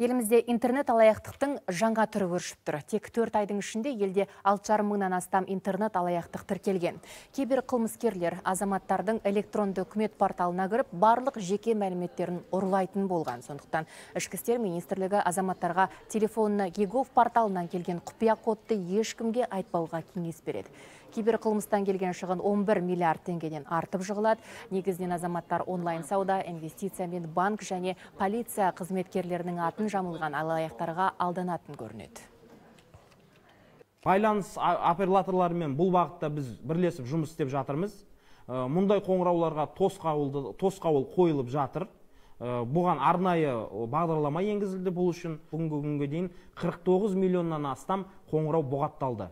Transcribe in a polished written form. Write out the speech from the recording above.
Елімізде интернет алаяқтықтың жаңа түрі өршіп тұр. Тек 4 айдың ішінде елде 6,5 мыңнан астам интернет алаяқтық тіркелген. Кейбір қылмыскерлер азаматтардың электронды үкімет порталына кіріп, барлық жеке мәліметтерін ұрлайтын болған. Сондықтан Ішкі істер министрлігі азаматтарға телефонына Егов порталынан келген құпия кодты ешкімге айтпауға кеңес береді. Кейбір қылмыстан келген шығын 11 миллиард теңгеден артып жығылады. Негізінен азаматтар онлайн сауда, инвестиция мен банк және полиция қызметкерлерінің атын жамылған алаяқтарға алданатын көрінеді. Байланыс операторларымен бұл бағытта біз бірлесіп жұмыс істеп жатырмыз. Мұндай қоңырауларға тосқауыл қойылып жатыр. Бұған арнайы бағдарлама енгізілді. Бұл үшін бүгінгі күнге дейін 49 миллионнан астам қоңырау бұғатталды.